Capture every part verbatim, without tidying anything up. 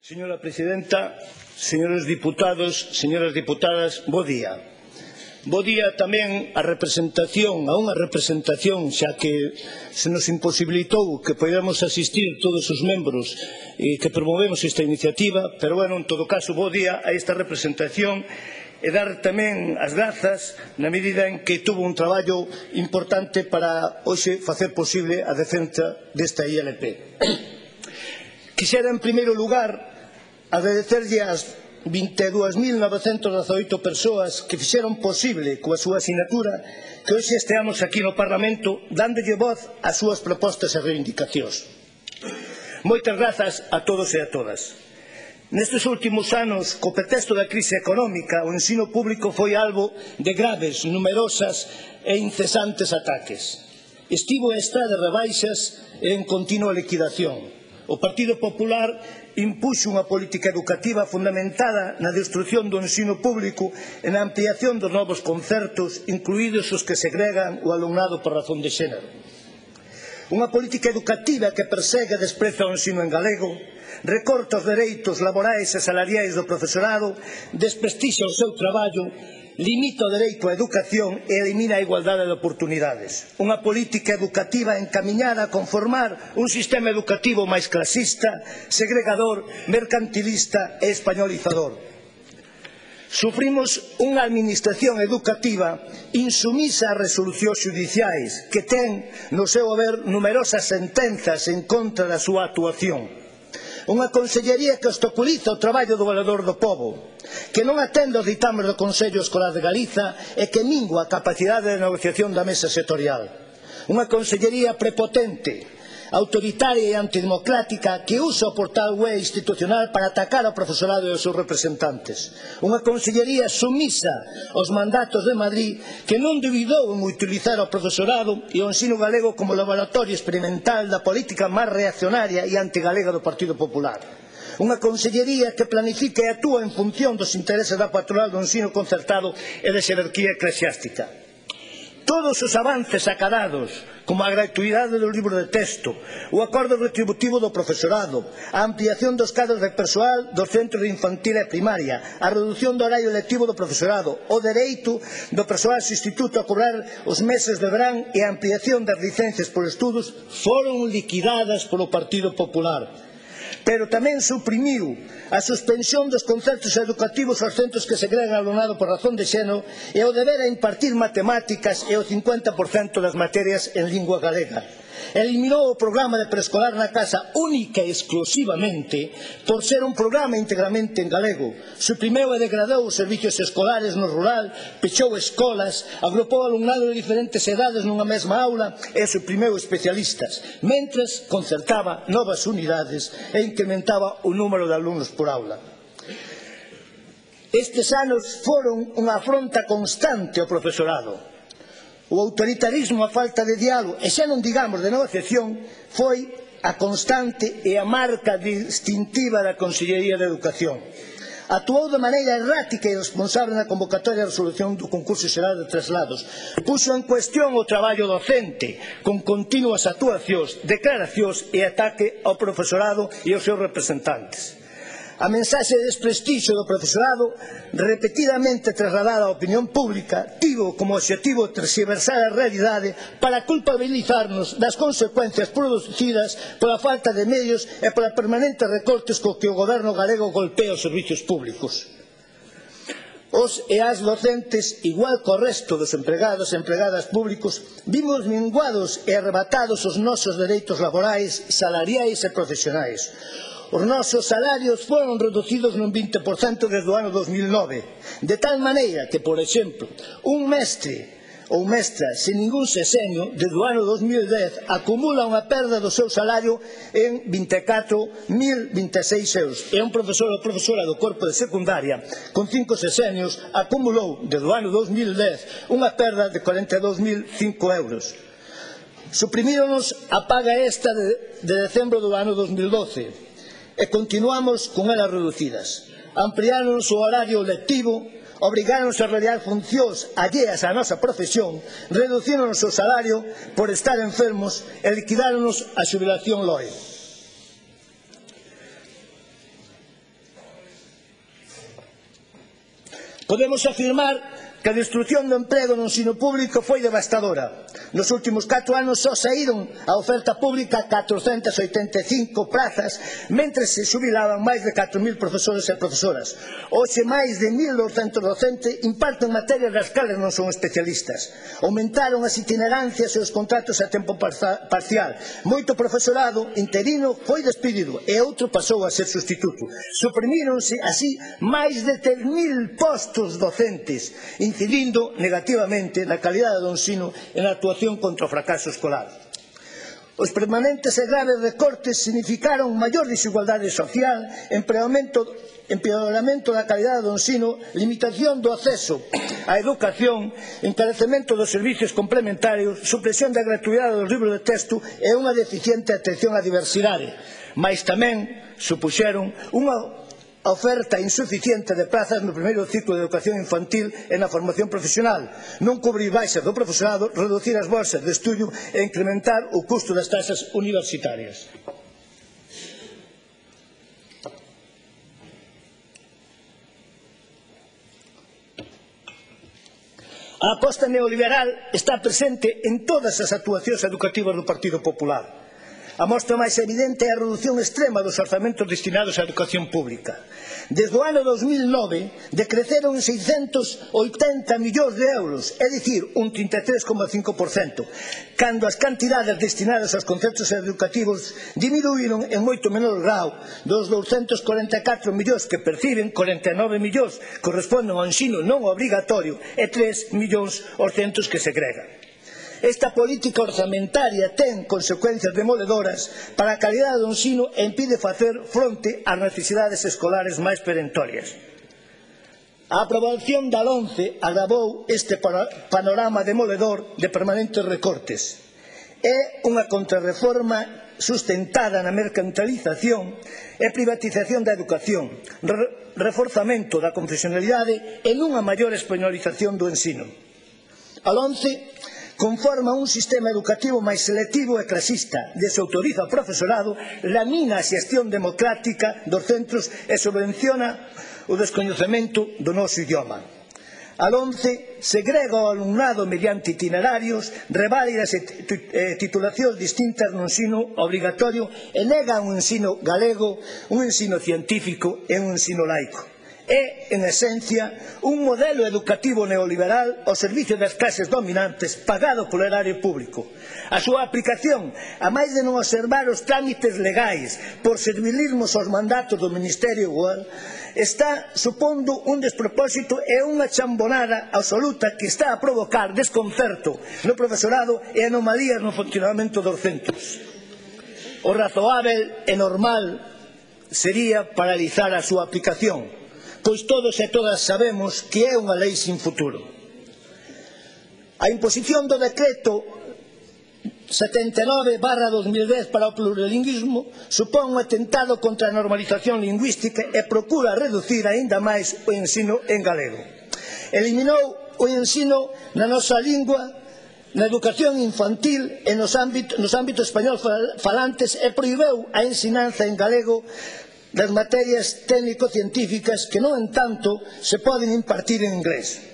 Señora Presidenta, señores diputados, señoras diputadas, bo día. Bo día tamén a representación, a unha representación, xa que se nos imposibilitou que podamos asistir todos os membros eh, que promovemos esta iniciativa, pero, bueno, en todo caso, bo día a esta representación e dar tamén as grazas na medida en que tuvo un traballo importante para hoxe facer posible a defensa desta I L P. Quixera, en primeiro lugar, agradecerlle ás vinte e dúas mil novecentas dezaoito persoas que fixeron posible coa súa asinatura que hoxe esteamos aquí no Parlamento dándolle voz ás súas propostas e reivindicacións. Moitas grazas a todos e a todas. Nestes últimos anos, co pretexto da crise económica, o ensino público foi albo de graves, numerosas e incesantes ataques. Estivo e está de rebaixas e en continua liquidación. O Partido Popular impuxo unha política educativa fundamentada na destrucción do ensino público e na ampliación dos novos concertos, incluídos os que segregan o alumnado por razón de xénero. Unha política educativa que persegue e despreza o ensino en galego, recorta os dereitos laborais e salariais do profesorado, desprestixa o seu traballo, limita o dereito á educación e elimina a igualdade de oportunidades. Unha política educativa encamiñada a conformar un sistema educativo máis clasista, segregador, mercantilista e españolizador. Sufrimos unha administración educativa insumisa ás resolucións xudiciais que ten no seu haber numerosas sentenzas en contra da súa actuación. Unha consellería que obstaculiza o traballo do valedor do pobo, que non atende os ditames do Consello Escolar de Galiza e que mingua a capacidade de negociación da mesa sectorial. Unha consellería prepotente, autoritaria e antidemocrática que usa o portal web institucional para atacar ao profesorado e aos seus representantes. Unha consellería sumisa aos mandatos de Madrid que non duvidou en utilizar o profesorado e o ensino galego como laboratorio experimental da política máis reaccionaria e antigalega do Partido Popular. Unha consellería que planifica e actúa en función dos intereses da patronal do ensino concertado e da xerarquía eclesiástica. Todos os avances acadados, como a gratuidade do libro de texto, o acordo retributivo do profesorado, a ampliación dos cadros de persoal dos centros de infantil e primaria, a redución do horario lectivo do profesorado, o dereito do persoal substituto a cobrar os meses de verán e a ampliación das licencias por estudos foron liquidadas polo Partido Popular. Pero tamén suprimiu a suspensión dos concertos educativos aos centros que segregan alumnado por razón de xénero e o deber a impartir matemáticas e o cincuenta por cento das materias en lingua galega. Eliminou o programa de preescolar na casa única e exclusivamente por ser un programa integramente en galego. Suprimeu e degradou os servicios escolares no rural, pechou escolas, agrupou alumnado de diferentes edades nunha mesma aula e suprimeu especialistas, mentres concertaba novas unidades e incrementaba o número de alumnos por aula. Estes anos foron unha afronta constante ao profesorado. O autoritarismo, a falta de diálogo e xa non digamos de negociación foi a constante e a marca distintiva da Consellería de Educación. Actuou de maneira errática e irresponsable na convocatoria de resolución do concurso xeral de traslados. Puxo en cuestión o traballo docente con continuas actuacións, declaracións e ataque ao profesorado e aos seus representantes. A mensaxe de desprestixio do profesorado, repetidamente trasladada á opinión pública, tivo como obxectivo terxiversar a realidade para culpabilizarnos das consecuencias producidas pola falta de medios e pola permanentes recortes co que o goberno galego golpea os servicios públicos. Os e as docentes, igual co resto dos empregados e empregadas públicos, vimos minguados e arrebatados os nosos dereitos laborais, salariais e profesionais. Os nosos salarios foron reducidos nun vinte por cento desde o ano dos mil nove, de tal maneira que, por exemplo, un mestre ou mestra sen ningún sexenio, desde o ano dos mil dez, acumula unha perda do seu salario en vinte e catro mil vinte e seis euros. E un profesor ou profesora do corpo de secundaria, con cinco sexenios, acumulou, desde o ano dos mil dez, unha perda de cuarenta e dous mil cinco euros. Suprimíronos a paga esta de, de decembro do ano dos mil doce. E continuamos con elas reducidas. Ampliáronos o horario lectivo, obrigáronos a realizar funcións alleas á nosa profesión, reducíronos o salario por estar enfermos e liquidáronos a xubilación L O E. Podemos afirmar que a destrución do emprego no ensino público foi devastadora. Nos últimos catro anos só saíron a oferta pública catrocentas oitenta e cinco plazas, mentre se xubilaban máis de catro mil profesores e profesoras. Hoxe máis de mil douscentos docentes imparten materias das cales non son especialistas. Aumentaron as itinerancias e os contratos a tempo parcial. Moito profesorado interino foi despedido e outro pasou a ser sustituto. Suprimíronse así máis de tres mil postos docentes, incidindo negativamente na calidade do ensino e na actuación contra o fracaso escolar. Os permanentes e graves recortes significaron maior desigualdade social, empeoramento, empeoramento da calidade do ensino, limitación do acceso á educación, encarecemento dos servicios complementarios, supresión da gratuidade dos libros de texto e unha deficiente atención á diversidade. Mais tamén supuxeron unha a oferta insuficiente de plazas no primeiro ciclo de educación infantil e na formación profesional, non cubrir baixas do profesorado, reducir as bolsas de estudio e incrementar o custo das taxas universitarias. A aposta neoliberal está presente en todas as actuacións educativas do Partido Popular. A mostra máis evidente é a redución extrema dos orzamentos destinados á educación pública. Desde o ano dos mil nove decreceron en seiscentos oitenta millóns de euros, é dicir, un trinta e tres coma cinco por cento, cando as cantidades destinadas aos conceptos educativos diminuíron en moito menor grau. Dos douscentos corenta e catro millóns que perciben, corenta e nove millóns corresponden ao ensino non obrigatorio e tres millóns aos centros que segregan. Esta política orzamentaria ten consecuencias demoledoras para a calidade do ensino e impide facer fronte ás necesidades escolares máis perentorias. A aprobación da LOMCE agravou este panorama demoledor de permanentes recortes. É unha contrarreforma sustentada na mercantilización e privatización da educación, reforzamento da confesionalidade e nunha maior españolización do ensino. A LOMCE conforma un sistema educativo máis selectivo e clasista, desautoriza o profesorado, lamina a xestión democrática dos centros e subvenciona o descoñecemento do noso idioma. A LOMCE segrega o alumnado mediante itinerarios, reválidas e titulacións distintas no ensino obrigatorio e nega un ensino galego, un ensino científico e un ensino laico. É, en esencia, un modelo educativo neoliberal ao servicio das clases dominantes pagado polo erario público. A súa aplicación, a máis de non observar os trámites legais por servilismos aos mandatos do Ministerio igual, está supondo un despropósito e unha chambonada absoluta que está a provocar desconcerto no profesorado e anomalías no funcionamento dos centros. O razoável e normal sería paralizar a súa aplicación, pois todos e todas sabemos que é unha lei sin futuro. A imposición do decreto setenta e nove barra dos mil dez para o plurilingüismo supón un atentado contra a normalización lingüística e procura reducir aínda máis o ensino en galego. Eliminou o ensino na nosa lingua na educación infantil e nos ámbitos, nos ámbitos español falantes e prohibeu a ensinanza en galego das materias técnico-científicas que, no entanto, se poden impartir en inglés.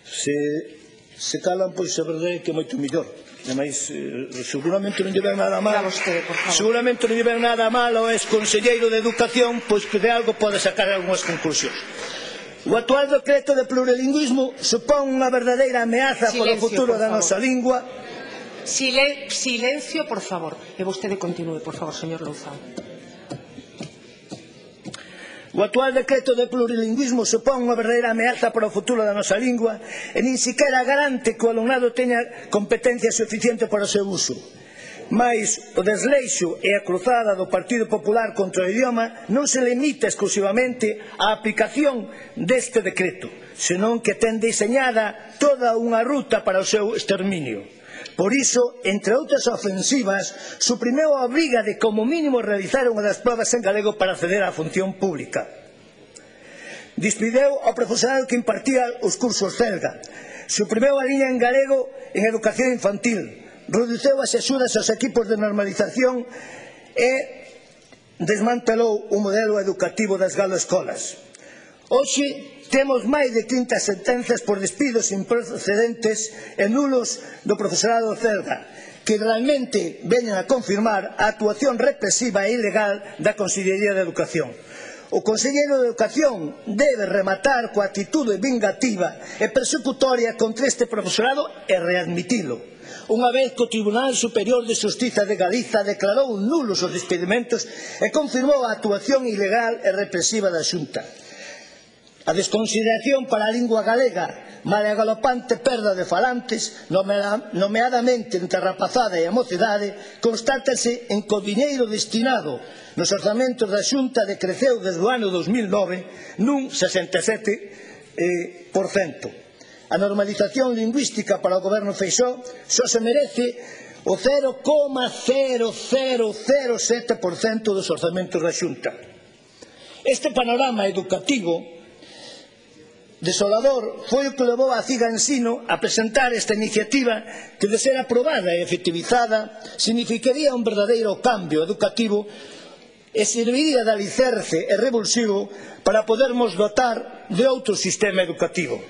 Se, se calan, pois a verdade é que é moito mellor. Ademais, eh, seguramente non lle ven nada mal. Seguramente non lle ven nada mal ao ex-conselleiro de Educación, pois que de algo pode sacar algunhas conclusións. O actual decreto de plurilingüismo supón unha verdadeira ameaza polo futuro da nosa lingua. Silen silencio, por favor. E vostede continúe, por favor, señor Louzao. O actual decreto de plurilingüismo supón unha verdadeira ameaza para o futuro da nosa lingua e nin sequera garante que o alumnado teña competencia suficiente para o seu uso. Mais o desleixo e a cruzada do Partido Popular contra o idioma non se limita exclusivamente á aplicación deste decreto, senón que ten diseñada toda unha ruta para o seu exterminio. Por iso, entre outras ofensivas, suprimeu a obriga de como mínimo realizar unha das probas en galego para acceder á función pública. Despideu ao profesorado que impartía os cursos CELGA. Suprimeu a liña en galego en educación infantil. Reduceu as axudas aos equipos de normalización e desmantelou o modelo educativo das galoescolas. Hoxe temos máis de trinta sentenzas por despidos improcedentes e nulos do profesorado celga, que realmente veñen a confirmar a actuación represiva e ilegal da Consellería de Educación. O Conselleiro de Educación debe rematar coa actitude vingativa e persecutoria contra este profesorado e readmitilo, unha vez que o Tribunal Superior de Xustiza de Galiza declarou nulos os despedimentos e confirmou a actuación ilegal e represiva da Xunta. A desconsideración para a lingua galega, mala e galopante perda de falantes, nomeadamente entre a rapazada e a mocidade, constátase en que o diñeiro destinado nos orzamentos da Xunta decreceu desde o ano dos mil nove nun sesenta e sete por cento. A normalización lingüística para o goberno Feixóo só se merece o cero coma cero cero cero sete por cento dos orzamentos da Xunta. Este panorama educativo desolador foi o que levou a Ciga Ensino a presentar esta iniciativa que, de ser aprobada e efectivizada, significaría un verdadeiro cambio educativo e serviría de alicerce e revulsivo para podermos dotar de outro sistema educativo.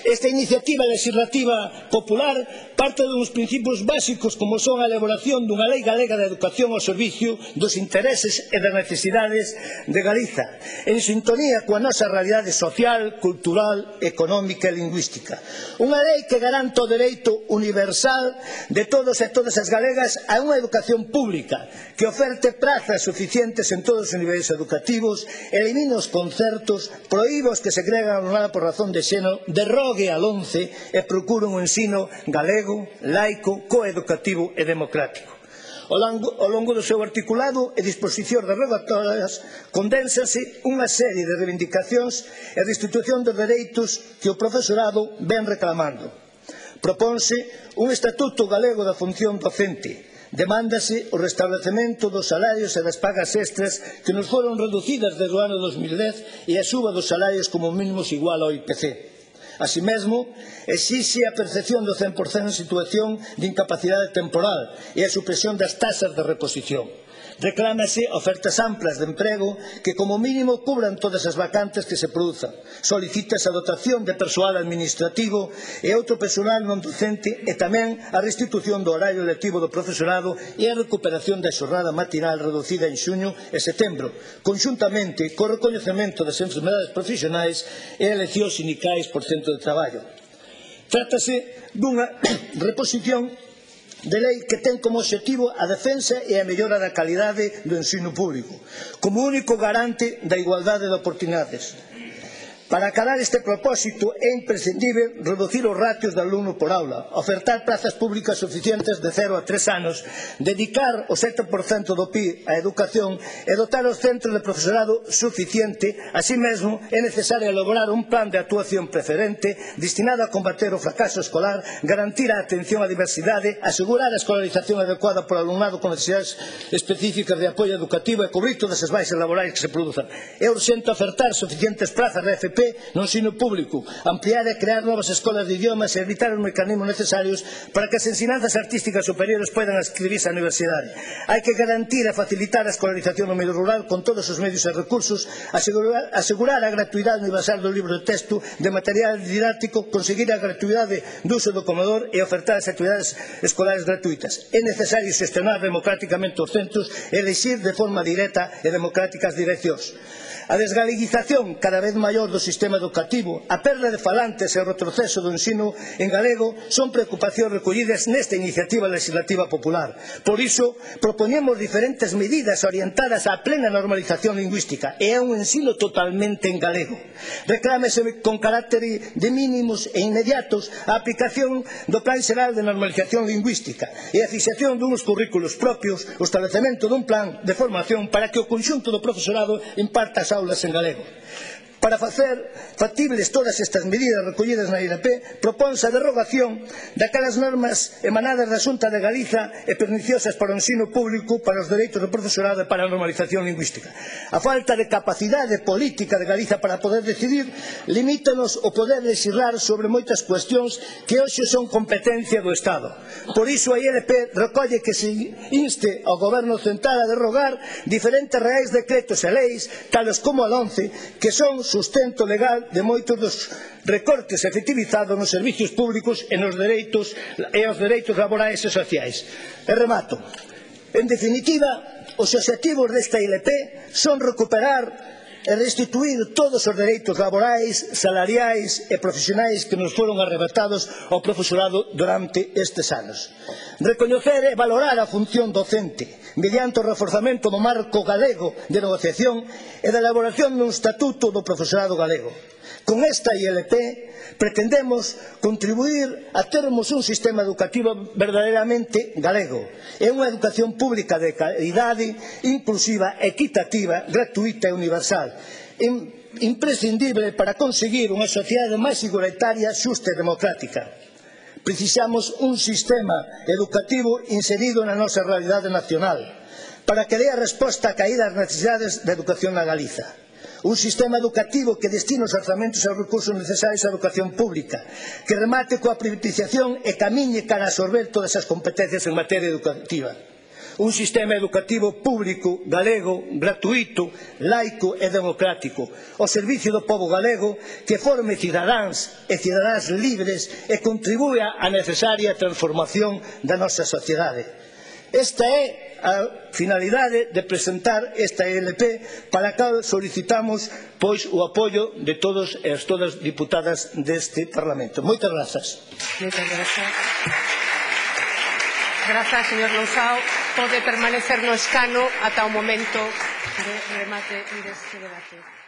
Esta iniciativa legislativa popular parte duns principios básicos como son a elaboración dunha lei galega de educación ao servicio dos intereses e das necesidades de Galiza, en sintonía coa nosa realidade social, cultural, económica e lingüística. Unha lei que garanta o dereito universal de todos e todas as galegas a unha educación pública, que oferte prazas suficientes en todos os niveis educativos, elimine os concertos, proíbe os que segregan a alumnado por razón de xénero, derrogue a LOMCE e procure un ensino galego, laico, coeducativo e democrático. Ao longo do seu articulado e disposicións derrogatorias condénsase unha serie de reivindicacións e restitución dos dereitos que o profesorado ven reclamando. Propónse un estatuto galego da función docente. Demándase o restablecemento dos salarios e das pagas extras que nos foron reducidas desde o ano dos mil dez e a suba dos salarios como mínimos igual ao I P C. Así mesmo, exixe a percepción do cen por cento en situación de incapacidade temporal e a supresión das taxas de reposición. Reclámase ofertas amplas de emprego que como mínimo cubran todas as vacantes que se produzan. Solicítase a dotación de persoal administrativo e outro personal non docente e tamén a restitución do horario lectivo do profesorado e a recuperación da xornada matinal reducida en xuño e setembro, conxuntamente co recoñecemento das enfermedades profesionais e eleccións sindicais por centro de traballo. Trátase dunha reposición de lei que ten como obxectivo a defensa e a mellora da calidade do ensino público, como único garante da igualdade de oportunidades. Para acadar este propósito é imprescindible reducir os ratios de alumno por aula, ofertar plazas públicas suficientes de cero a tres anos, dedicar o sete por cento do P I B á educación e dotar os centros de profesorado suficiente. Así mesmo, é necesario elaborar un plan de actuación preferente destinado a combater o fracaso escolar, garantir a atención á diversidade, asegurar a escolarización adecuada por alumnado con necesidades específicas de apoio educativo e cubrir todas as baixas laborais que se produzan. É urxente ofertar suficientes plazas de F P no ensino público, ampliar e crear novas escolas de idiomas e evitar os mecanismos necesarios para que as ensinanzas artísticas superiores poidan inscribirse á universidade. Hai que garantir e facilitar a escolarización no medio rural con todos os medios e recursos, asegurar, asegurar a gratuidade universal do libro de texto, de material didáctico, conseguir a gratuidade do uso do comedor e ofertar as actividades escolares gratuitas. É necesario xestionar democráticamente os centros e elixir de forma directa e democrática as direccións. A desgaleguización cada vez maior do sistema educativo, a perda de falantes e o retroceso do ensino en galego son preocupacións recollidas nesta iniciativa legislativa popular. Por iso, propoñemos diferentes medidas orientadas á plena normalización lingüística e a un ensino totalmente en galego. Reclámese con carácter de mínimos e inmediatos a aplicación do Plan Xeral de Normalización Lingüística e a fixación duns currículos propios, o establecemento dun plan de formación para que o conxunto do profesorado imparta as aulas en galego. Para facer factibles todas estas medidas recollidas na I L P, proponse a derrogación daquelas normas emanadas da Xunta de Galiza e perniciosas para o ensino público, para os dereitos do profesorado e para a normalización lingüística. A falta de capacidade política de Galiza para poder decidir limítanos o poder legislar sobre moitas cuestións que hoxe son competencia do Estado. Por iso a I L P recolle que se inste ao Goberno central a derrogar diferentes reais decretos e leis, tales como a once, que son sustento legal de moitos dos recortes efectivizados nos servicios públicos e nos dereitos e os dereitos laborais e sociais. E remato. En definitiva, os obxectivos desta I L P son recuperar e restituir todos os dereitos laborais, salariais e profesionais que nos foron arrebatados ao profesorado durante estes anos. Recoñecer e valorar a función docente mediante o reforzamento do marco galego de negociación e da elaboración dun estatuto do profesorado galego. Con esta I L P pretendemos contribuir a termos un sistema educativo verdadeiramente galego e unha educación pública de calidade, inclusiva, equitativa, gratuita e universal, imprescindible para conseguir unha sociedade máis igualitaria, xusta e democrática. Precisamos un sistema educativo inserido na nosa realidade nacional para que dea resposta a caídas necesidades da educación na Galiza. Un sistema educativo que destine os orzamentos e os recursos necesarios á educación pública, que remate coa privatización e camiñe cara a absorber todas as competencias en materia educativa. Un sistema educativo público, galego, gratuito, laico e democrático, ao servicio do pobo galego, que forme cidadáns e cidadáns libres e contribúa á necesaria transformación da nosa sociedade. Esta é a finalidade de presentar esta I L P, para a cal solicitamos pois o apoio de todos e as todas diputadas deste Parlamento. Moitas grazas. Moitas grazas. Grazas, señor Lousao. Pode permanecer no escano ata o momento de remate deste debate.